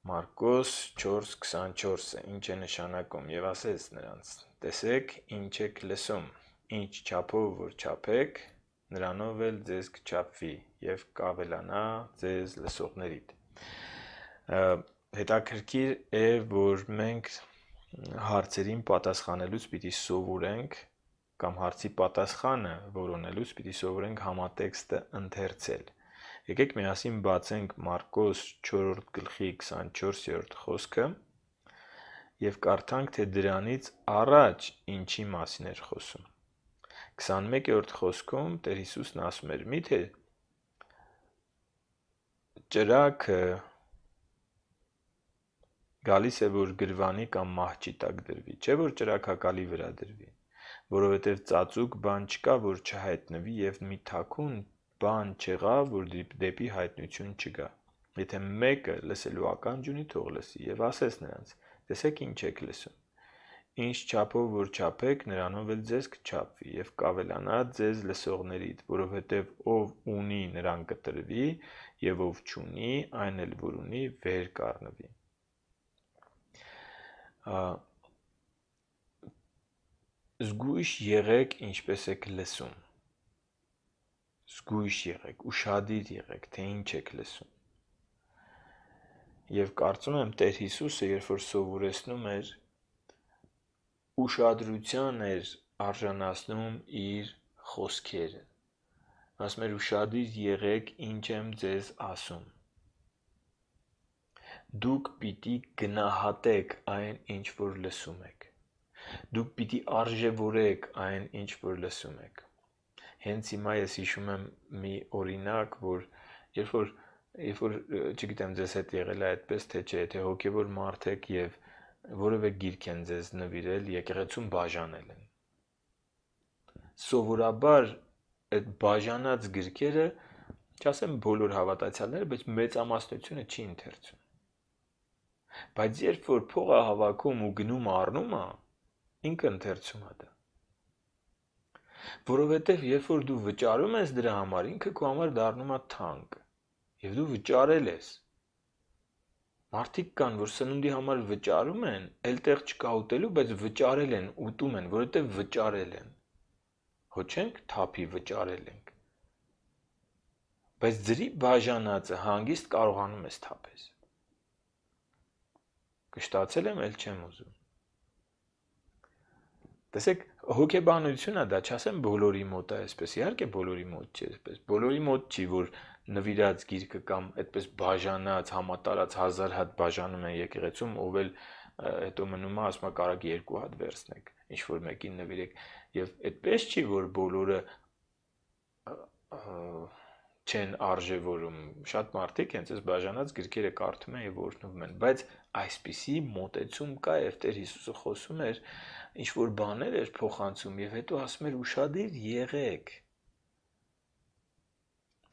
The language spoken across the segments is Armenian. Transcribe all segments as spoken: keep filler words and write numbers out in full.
Մարկոս չորս քսանչորսը ինչ է նշանակում եւ ասեց նրանց. տեսեք ինչ եք լսում, ինչ չափով որ չափեք, նրանով էլ ձեզ կչափվի եւ կավելանա ձեզ լսողներիդ։ Հետաքրքիր է, որ մենք հարցերին պատասխանելուց պիտի սովորենք կամ հարցի պատասխանը որոնելուց պիտի սովորենք համատեքստը ընթերցել։ Եկեք միասին բացենք Մարկոս չորրորդ գլխի քսանչորսերորդ խոսքը եւ կարդանք, թե դրանից առաջ ինչի մասին էր խոսում։ քսանմեկերորդ խոսքում Տեր Հիսուսն ասում էր. «Միթե ճրագը գալիս է, որ գրվանի կամ մահճի տակ դրվի, չէ որ ճրագակալի վրա դրվի, որովհետև ծածուկ բան չկա, որ չհայտնվի եւ մի թաքուն բան չեղավ, որ դեպի հայտնություն չգա։ Եթե մեկը լսելու ականջ ունի, թող լսի»։ Եվ ասեց նրանց. տեսեք ինչ եք լսում, ինչ չափով որ չափեք, նրանով էլ ձեզ կչափվի եւ կավելանա ձեզ լսողներիդ, որովհետեւ ով ունի, նրան կտրվի, եւ ով չունի, այն էլ որ ունի, վեր կառնվի։ Զգույշ եղեք, ինչպես եք լսում։ Զգույշ եղեք, ուշադիր եղեք, թե ինչ եք լսում։ Եվ կարծում եմ Տեր Հիսուսը, երբ որ սովորեցնում էր, ուշադրության էր արժանացնում իր խոսքերը։ Ասում էր ուշադիր եղեք, ինչ եմ ձեզ ասում։ Դուք պիտի գնահատեք այն, ինչ որ լսում եք։ Դուք պիտի արժևորեք այն, ինչ որ լսում եք։ Հենց հիմա ես հիշում եմ մի օրինակ, որ երբ որ երբ որ չգիտեմ ձեզ հետ եղել է այդպես թե չէ, թե հոգևոր մարդ եք եւ որևէ գիրք են ձեզ նվիրել, եկեղեցում բաժանել են։ Սովորաբար այդ բաժանած գրքերը, չասեմ բոլոր հավատացյալները, բայց մեծամասնությունը չի ընթերցում։ Բայց երբ որ փող է հավաքում ու գնում առնում է, ինքը ընթերցում է դա։ Որովհետև երբ որ դու վճարում ես դրա համար, ինքը քո համար դառնում է թանկ, եւ դու վճարել ես։ Մարդիկ կան, որ սնունդի համար վճարում են, էլ տեղ չկա ուտելու, բայց վճարել են, ուտում են, որովհետև վճարել են։ Հո չենք թափի վճարել ենք։ Բայց ձրի բաժանածը հանգիստ կարողանում ես թափես։ Կշտացել եմ, էլ չեմ ուզում։ Տեսեք, հոգեբանությունը դա չասեմ բոլորի մոտ է այսպես, իհարկե բոլորի մոտ չի այսպես, բոլորի մոտ չի, որ նվիրած գիրքը կամ այդպես բաժանած, համատարած հազար հատ բաժանում են եկեղեցում, ով էլ հետո մնում է, ասում է կարակ երկու հատ վերցնեք, ինչ որ մեկին նվիրեք, եւ այդպես չի, որ բոլորը չեն արժևորում, շատ մարդիկ հենց այս բաժանած գրքերը կարդում են եւ օրհնվում են, բայց այսպիսի մոտեցում կա եւ Տեր Հիսուսը խոսում էր, ինչ որ բաներ էր փոխանցում եւ հետո ասում էր ուշադիր եղեք,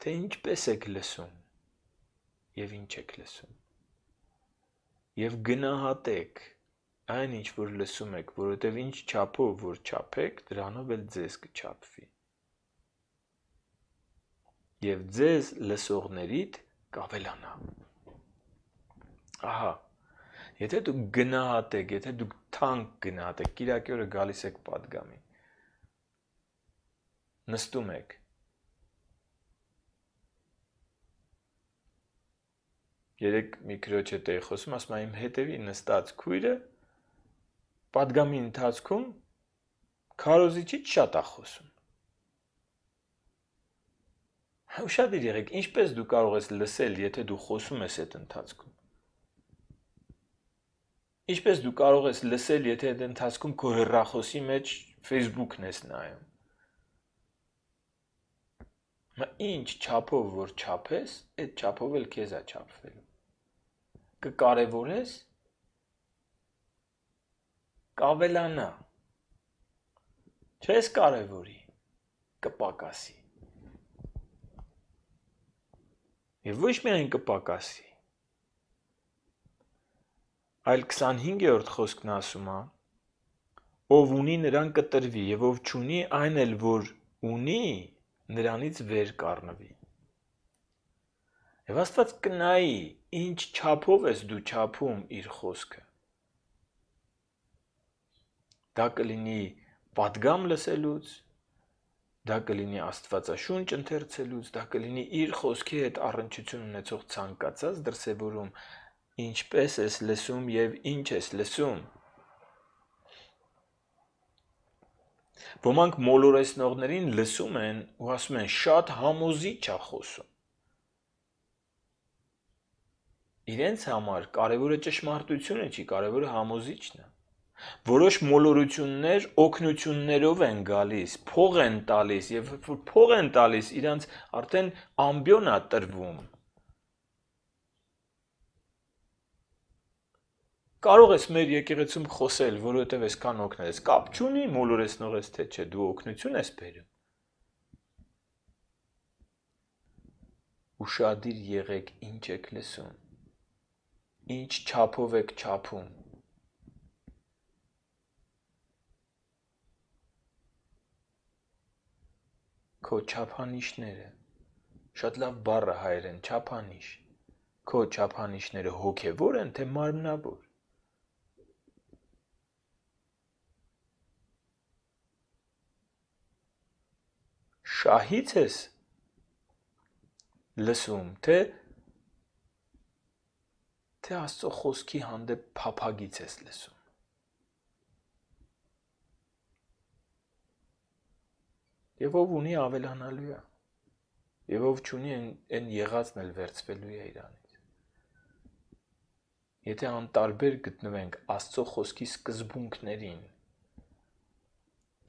թե ինչպես եք լսում եւ ինչ եք լսում եւ գնահատեք այն, ինչ որ լսում եք, որովհետեւ ինչ չափով որ չափեք, դրանով էլ ձեզ կչափվի եւ ձեզ լսողներիդ կավելանա։ Ահա, եթե դուք գնահատեք, եթե դուք թանկ գնահատեք, կիրակի օրը գալիս եք պատգամի, նստում եք, երեք մի քրոջ հետ էի խոսում, ասում եմ, իմ հետևի նստած քույրը պատգամի ընթացքում քարոզիչից շատ է խոսում։ Ուշադիր եղեք, ինչպես դու կարող ես լսել, եթե դու խոսում ես այդ ընթացքում։ Ինչպես դու կարող ես լսել, եթե այդ ընթացքում քո հեռախոսի մեջ Facebook-ն ես նայում։ Մա ինչ չափով որ չափես, այդ չափով էլ քեզ է չափվելու։ Կկարևորես, կավելանա։ Չես կարևորի, կպակասի։ Եվ ոչ միայն կպակասի, այլ քսանհինգերորդ խոսքն ասում է, ով ունի նրան կտրվի, եւ ով չունի, այն էլ որ ունի, նրանից վեր կառնվի։ Եվ Աստված կնայի, ինչ չափով ես դու չափում իր խոսքը։ Դա կլինի պատգամ լսելուց, դա կլինի Աստվածաշունչ ընթերցելուց, դա կլինի իր խոսքի հետ առնչություն ունեցող ցանկացած դրսևորում, ինչպես ես լսում եւ ինչ ես լսում։ Ոմանք մոլորեսնողներին լսում են ու ասում են շատ համոզիչ է խոսում։ Իրենց համար կարևորը ճշմարտությունը չի, կարևորը համոզիչն է։ Որոշ մոլորություններ օգնություններով են գալիս, փող են տալիս եւ որ փող են տալիս, իրանց արդեն ամբիոն է տրվում։ Կարող ես մեր եկեղեցում խոսել, որովհետեւ այսքան օգնել ես, կապ չունի մոլորեսնող ես թե չէ, դու օգնություն ես բերում։ Ուշադիր եղեք ինչ եք լսում, ինչ չափով եք չափում։ Քո չափանիշները, շատ լավ բառ է հայերեն, չափանիշ, քո չափանիշները հոգևոր են, թե մարմնավոր։ Շահից ես լսում, թե թե Աստծո խոսքի հանդեպ փափագից ես լսում։ Եվ ով ունի ավելանալու է, եւ ով չունի այն եղածն էլ վերցվելու է իրանից։ Եթե անտարբեր գտնվենք Աստծո խոսքի սկզբունքներին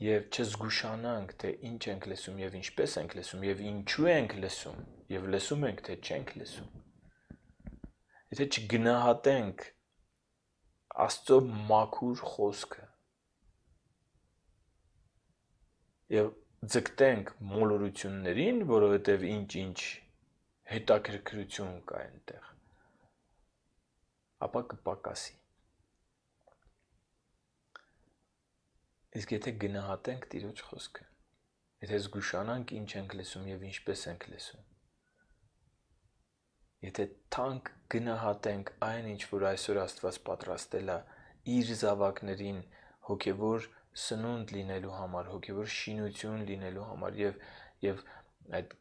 եւ չզգուշանանք, թե ինչ ենք լսում եւ ինչպես ենք լսում եւ ինչու ենք լսում եւ լսում ենք, թե չենք լսում, եթե չգնահատենք Աստծո մաքուր խոսքը եւ ձգտենք մոլորություններին, որովհետև ինչ-ինչ հետաքրքրություն կա այնտեղ, ապա կպակասի։ Իսկ եթե գնահատենք Տիրոջ խոսքը, եթե զգուշանանք ինչ ենք լսում եւ ինչպես ենք լսում, եթե թանկ գնահատենք այն, ինչ որ այսօր Աստված պատրաստել է իր զավակներին հոգևոր սնունդ լինելու համար, հոգևոր շինություն լինելու համար եւ եւ այդ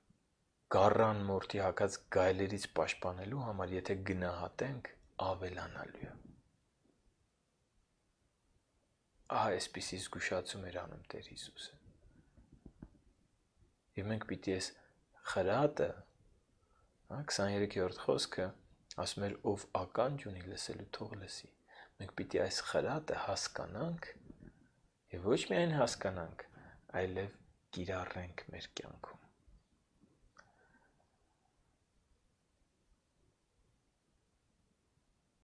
գառան մորթի հակած գայլերից պաշտպանելու համար, եթե գնահատենք, ավելանալու է։ Ահա այսպիսի զգուշացում էր անում Տեր Հիսուսը։ Եվ մենք պիտի այս խրատը, հա, քսաներեքերորդ խոսքը ասում էր ով ականջ ունի լսելու թող լսի։ Մենք պիտի այս խրատը հասկանանք եւ ոչ միայն հասկանանք, այլև կիրառենք մեր կյանքում։